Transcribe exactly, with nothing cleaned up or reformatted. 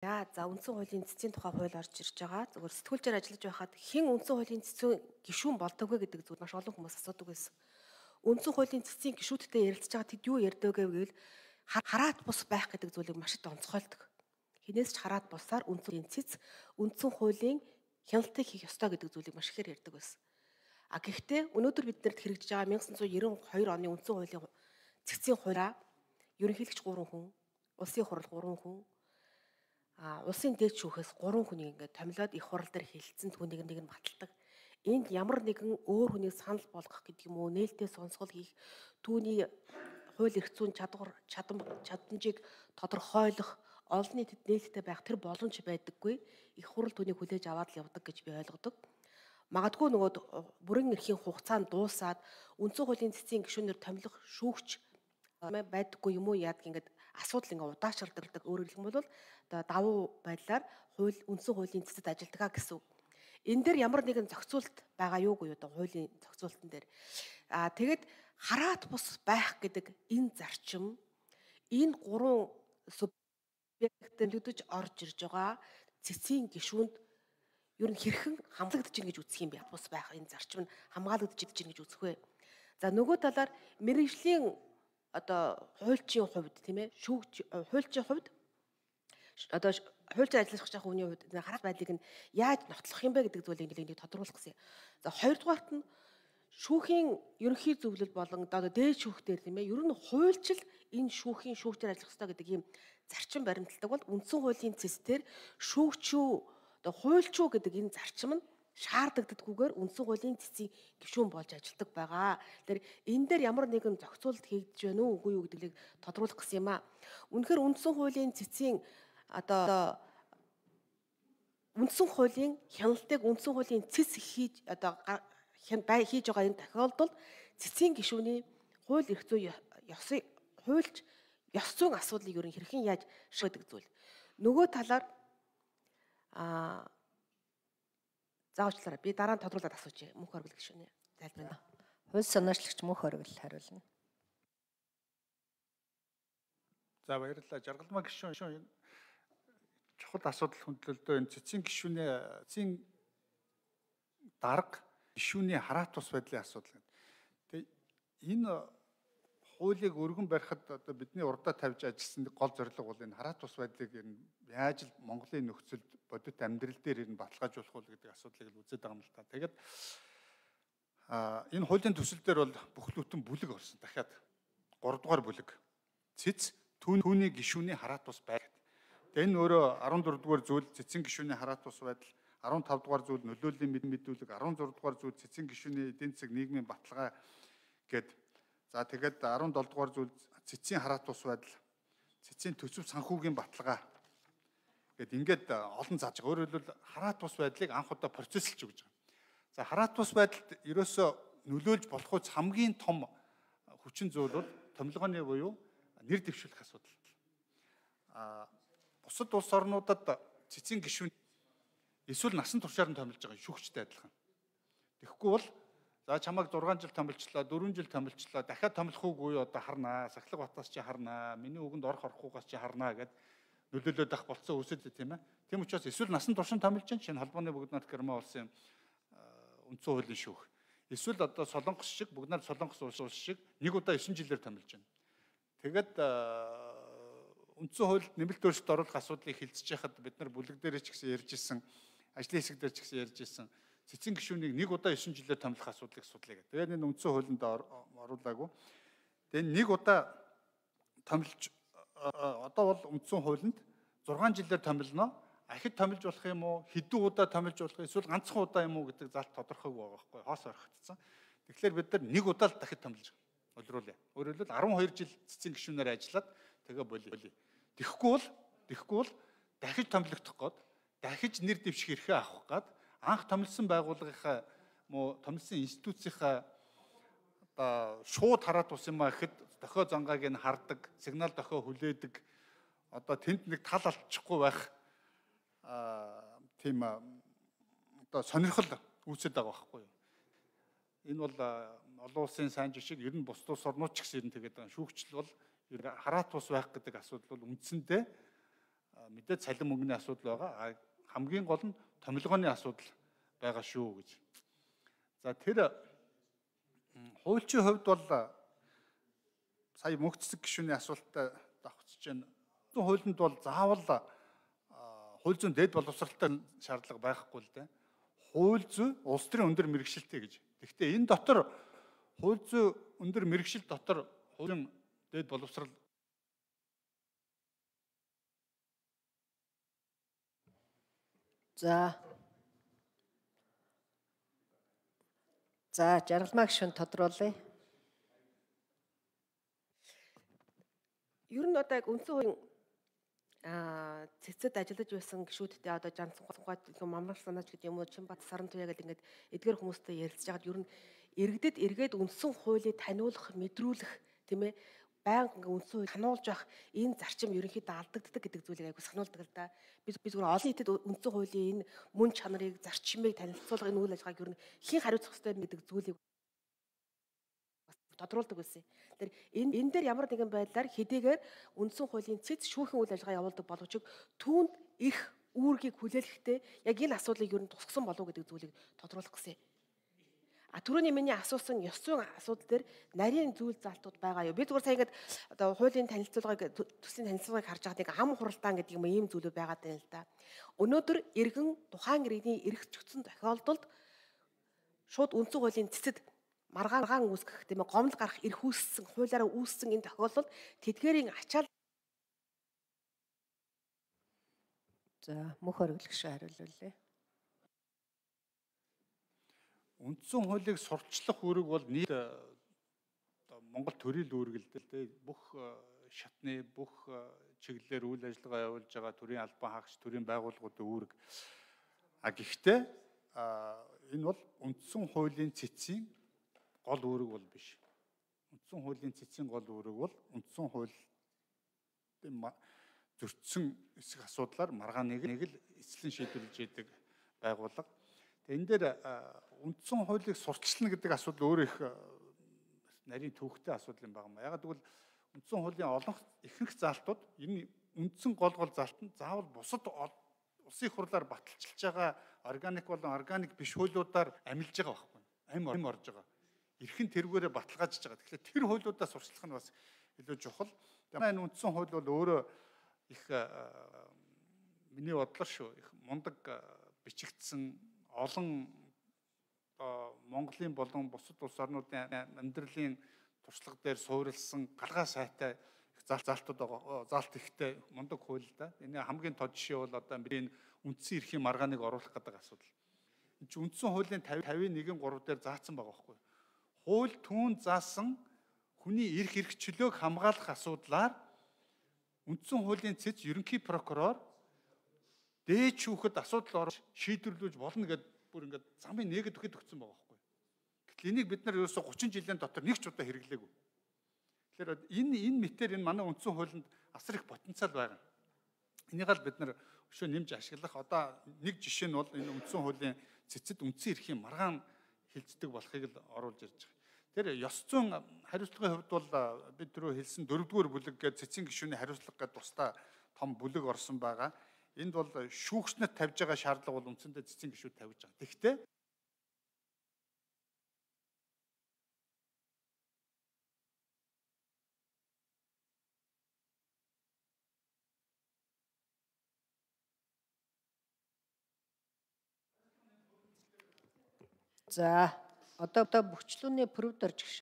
Яа, за үндсэн хуулийн цэцгийн тухай хууль орж ирж байгаа. Зөвхөн сэтгүүлчээр ажиллаж байхад хэн үндсэн хуулийн цэцэн гишүүн болдог вэ гэдэг зүйл маш олон хүмүүс асуудаг байсан. Үндсэн хуулийн цэцгийн гишүүдтэй ярилцж байгаа тэд юу ярьдаг вэ гэвэл хараат бус байх гэдэг зүйлийг маш их онцгойлдог. Хинээс ч хараат бусаар үндсэн хуулийн цэц үндсэн хуулийн хяналтыг хийх ёстой гэдэг зүйлийг маш ихээр ярьдаг байсан. А гэхдээ өнөөдөр биднэрт хэрэгжиж байгаа 천ix девяносто two оны үндсэн хуулийн цэцгийн хуулиа ерөнхийлөгч гурван хүн, улсын хурал гурван хүн, а улсын дээд шүүхээс гурван хүнийг ингээд томилоод их хурал дээр хэлэлцэн түүнийг нэг нь баталдаг. Энд ямар нэгэн өөр хүнийг санал болгох гэдэг юм уу, нээлттэй сонсгол хийх, түүний хууль эрх зүйн чадвар чадам чадамжийг тодорхойлох, олон нийтэд нээлттэй байх тэр боломж байдаггүй. Их хурал түүнийг хүлээж аваад л явдаг гэж би ойлгодог. Магадгүй нөгөө бүрэн эрхийн хугацаанд дуусаад үндсэн хуулийн цэцгийн гишүүнээр томилох шүүгч байдаггүй юм уу яадаг ингээд асуудал ингээ удаашралдаг. Өөрөөр хэлбэл одоо давуу байдлаар хууль үндсэн хуулийн цэцэд ажилдгаа гэсэн. Энэ дээр ямар нэгэн зохицуулт байгаа юугүй одоо хуулийн зохицуултан дээр. Аа тэгэд хараат бус байх гэдэг энэ зарчим энэ гурван субъектэлдэж орж ирж байгаа цэцгийн гишүүнд ер нь хэрхэн хамлагдаж ийн гэж үзэх юм бэ? Бус байх энэ зарчим нь хамгаалагдаж ийн гэж үзэх вэ? За нөгөө талаар мэргэжлийн одоо хуульчийн хувьд тийм ээ шүүгч хуульчийн хувьд одоо хуульчаар ажиллаж байгаа хүний хувьд хараат байдлыг нь яаж нотлох юм бэ гэдэг зүйлийг нэлээд тодруулах гэсэн. За хоёрдугаарт нь шүүхийн ерөнхий зөвлөл болон одоо дээд шүүхтэр тийм ээ ер нь хуульчил энэ шүүхийн шүүгчээр ажиллах ёстой гэдэг ийм зарчим баримталдаг бол үндсэн хуулийн цэцээр шүүгчүү одоо хуульчүү гэдэг энэ зарчим нь шаардагддаггүйгээр үндсэн хуулийн цэцгийн гишүүн болж ажилладаг байгаа. Тэгэхээр энэ дээр ямар нэгэн зохицуулт хийгдэж байна уу үгүй юу гэдгийг тодруулах гэсэн юм аа. Үнэхээр үндсэн хуулийн цэцгийн одоо үндсэн хуулийн хяналтыг үндсэн хуулийн цэц хийж одоо бай хийж байгаа энэ тохиолдолд цэцгийн гишүүний хууль эрх зүй ёсыг хуульч ёс зүйн асуудлыг ер нь хэрхэн яаж шийдэх зүйл. Нөгөө талаар а заавчлаарай. Би дараа нь тодруулаад асууж мөнх оргил гишүүнээ тайлбарна. Хууль санаачлагч мөнх оргил хариулна. За баярлалаа. Жаргалмаа гишүүн чухал асуудал хөндлөлтөө энэ цэцгийн гишүүний цэцгийн дарга гишүүний хараат тус байдлын асуудал. Тэгээ энэ хуулийг өргөн барихад одоо бидний урдаа тавьж ажилласан гол зорилго бол энэ хараат тус байдлыг яаж л Монголын нөхцөлд бодит амьдрал дээр энэ баталгаажуулах уу гэдэг асуудлыг л үзээд байгаа юм л та. Тэгээд а энэ хуулийн төсөл дээр бол бүхлүүтэн бүлэг орсон. Дахиад гурав дугаар бүлэг. Цэц түүний гишүүний хараат тус байдаг. Тэгээд энэ өөрөө арван дөрөв дугаар зүйл цэцгийн гишүүний хараат тус байдал, арван тавд дугаар зүйл нөлөөллийн мэдүүлэг, арван зураг дугаар зүйл цэцгийн гишүүний эдийн засаг нийгмийн баталгаа гэдэг. За тэгээд арван долоо дугаар зүйл цэцгийн хараат тус байдал, цэцгийн төсөв санхүүгийн баталгаа гэд ингээд олон зааж байгаа. Өөрөөр хэлбэл хараат тус байдлыг анх удаа процессэлж өгж байгаа. За хараат тус байдалд ерөөсөө нөлөөлж болох үс хамгийн том хүчин зүйл бол томилгооны буюу нэр дэвшүүлэх асуудал. А бусад улс орнуудад цэцгийн гишүүн эсвэл насан туршаар нь томилж байгаа шүүгчтэй адилхан. Тэгэхгүй бол за чамайг зургаан жил томилчлаа, дөрвөн жил томилчлаа, дахиад томилох уугүй одоо харнаа, Сахилга Батаас чи харнаа, миний үгэнд орох орохгүйгаас чи харнаа гэд нөлөөлөд ах болцсон үсэд тийм ээ. Тийм учраас эсвэл насан туршин томилж чинь шинэ холбооны бүгд найрамд Герман улсын үндсэн хуулийн шүүх. Эсвэл одоо Солонгос шиг бүгд найрамд Солонгос улс шиг нэг удаа девять жилээр томилж байна. Тэгээд үндсэн хуульд нэмэлт өөрчлөлт оруулах асуудлыг хилцэж яхад бид нар бүлэг дээр ч гэсэн ярьж ирсэн, ажлын хэсэг дээр ч гэсэн ярьж ирсэн. Цэцгийн гишүүнийг нэг удаа девять жилээр томилох асуудлыг судлаа гэдэг. Тэгээд энэ үндсэн хуулинд оруулаагүй. Тэгээд нэг удаа томилж одоо бол үндсэн хуулинд зургаан жилээр томилно. Ахид томилж болох юм уу? Хэдэн удаа томилж болох эсвэл ганцхан удаа юм уу гэдэг залт тодорхойг байгаа байхгүй хоос орхигдсан. Тэгэхээр бид нар нэг удаа л дахид томилж өлрүүлээ. Өөрөөр хэлбэл арван хоёр жил цэцгийн гишүүнээр ажиллаад тэгээ болиё. Тэгэхгүй бол тэгэхгүй бол дахиж томилогдох гээд дахиж нэр дэвших эрхээ авах гээд анх томилсон байгууллагынхаа муу томилсон институцийнхаа одоо шууд хараат ус юм а гэхэд дохио зангааг нь хардаг, сигнал дохио хүлээдэг, одоо тэнд нэг тал алдчихгүй байх а тийм одоо сонирхол үүсэж байгаа байхгүй юу. Энэ бол олон улсын сайн жишг ер нь бус тус орнууд ч гэсэн ер нь тэгээд байгаа. Шүүгчл бол хараат ус байх гэдэг асуудал бол үндсэндээ мэдээд цалин мөнгөний асуудал байгаа. Хамгийн гол нь томилгооны асуудал байгаа шүү гэж. За тэр хуульчийн хувьд бол сая мөнх цэцэг гишүүний асуултад давхцж байна. Хуулинд бол заавал хууль зүйн дэд боловсралтай шаардлага байхгүй л дээ. Хууль зүй улс төрийн өндөр мэргэжилтэй гэж. Гэхдээ энэ дотор хууль зүй өндөр мэргэжил дотор хуулийн дэд боловсрал За. За, жаргалмаа гишүүн тодруулъя. Ер нь одоо яг үндсэн хуулийн аа цэцэд ажиллаж байсан гишүүдтэй одоо жанцсан гот мамрал санаач гэдэг юм уу Чинбат Сарантуяа гэдэг ингээд эдгээр хүмүүстэй ярилцж байгаад ер нь иргэдэд эргээд үндсэн хуулийг таниулах, мэдрүүлэх тийм ээ байнга ингээд үндсэн хуулийг сануулж явах энэ зарчим ерөнхийдөө алдагддаг гэдэг зүйлийг айгу сануулдаг л да. Бид бид зөвхөн олон нийтэд үндсэн хуулийн энэ мөн чанарыг, зарчмыг танилцуулах энэ үйл ажиллагааг ер нь хэн хариуцах ёстой гэдэг зүйлийг тодруулдаг байсан. Тэр энэ энэ дээр ямар нэгэн байдлаар хэдийгээр үндсэн хуулийн цэц шүүхэн үйл ажиллагаа явуулдаг боловч түүнд их үүргийг хүлээлгэхдээ яг энэ асуудлыг ер нь тусгасан болов уу гэдэг зүйлийг тодруулах гэсэн. А түрүүний миний асуусан ёс зүйн асуудал дээр нарийн зүйл залтууд байгаа юу? Би зүгээр сая ингээд одоо хуулийн танилцуулгыг төслийн танилцуулгыг харж байгаад нэг ам хуралдаан гэдэг юм ийм зүйлүүд байгаа даа л да. Өнөөдөр иргэн тухайн иргэний эрх зүйцэн тохиолдолд шууд үндсэн хуулийн цэцэд маргаан үүсгэх тийм ээ гомдол гарах эрх үүссэн хуулиараа үүссэн энэ тохиолдолд тэдгээрийн ачаал. За, мөнх оргилгч хариулъя. Үндсэн хуулийг сурчлах үүрэг бол нийт Монгол төрийн үүрэг л дээ. Бүх шатны бүх чиглэлээр үйл ажиллагаа явуулж байгаа төрийн албан хаагч, төрийн байгууллагуудын үүрэг. А гэхдээ энэ бол үндсэн хуулийн цэцгийн гол үүрэг бол биш. Үндсэн хуулийн цэцгийн гол үүрэг бол үндсэн хуулийн зөрчсөн эсэх асуудлаар маргааныг нэг л эцлэн шийдвэрлэж идэг байгууллага. Тэгээ энэ дээр үндсэн хуулийг сурталчилна гэдэг асуудал өөрөө их нарийн төвхтэй асуудал юм байна. Ягаад гэвэл үндсэн хуулийн олон ихэнх заалтууд энэ үндсэн гол гол заалт нь заавал бусад улсын их хурлаар баталчилж байгаа органик болон органик биш хуулиудаар амилж байгаа байхгүй. Амь амь орж байгаа. Эрхэн тэргүүрээ баталгаажж байгаа. Тэгэхээр тэр хуулиудаа сурчлах нь бас илүү чухал. Тэгээ энэ үндсэн хууль бол өөрөө их миний бодлоор шүү их мундаг бичигдсэн олон Монголын болон бусад улс орнуудын амьдралын туршлага дээр суурилсан галгаа сайтай их заалтууд байгаа. Заалт ихтэй мундаг хууль да. Энэ хамгийн тод жишээ бол одоо бидний үндсэн эрхийн маргааныг оруулах гэдэг асуудал. Энд чинь үндсэн хуулийн тавийн нэгэн гурав дээр заасан байгаа байхгүй. Хууль түүн заасан хүний эрх эрхчлөөг хамгаалах асуудлаар үндсэн хуулийн цэц ерөнхий прокурор дээд шүүхэд асуудал орж шийдвэрлэж болно гэдэг бүр ингээд замын нэгэд өгөхөд өгсөн байгаа байхгүй. Гэтэл энийг бид нар ерөөсө гучин жилийн дотор нэг ч удаа хэрэглээгүй. Тэгэхээр энэ энэ мэтэр энэ манай үндсэн хуулинд асар их потенциал байгаа. Энийг л бид нар өшөө нэмж ашиглах одоо нэг жишээ нь бол энэ үндсэн хуулийн цэцэд үндсэн эрхийн маргаан хилцдэг болохыг л оруулж ирж байгаа. Тэр ёс зүйн хариуцлагын хувьд бол бид түрүү хэлсэн дөрөвдүгээр бүлэг гээд цэцэн гишүүний хариуцлага гээд тусдаа том бүлэг орсон байгаа. Энд бол шүүгчнэд тавьж байгаа шаардлага бол үндсэндээ цэцэн гишүүд тавьж байгаа. Тэгэхдээ За, одоо одоо бүхчлүүний прүвд орж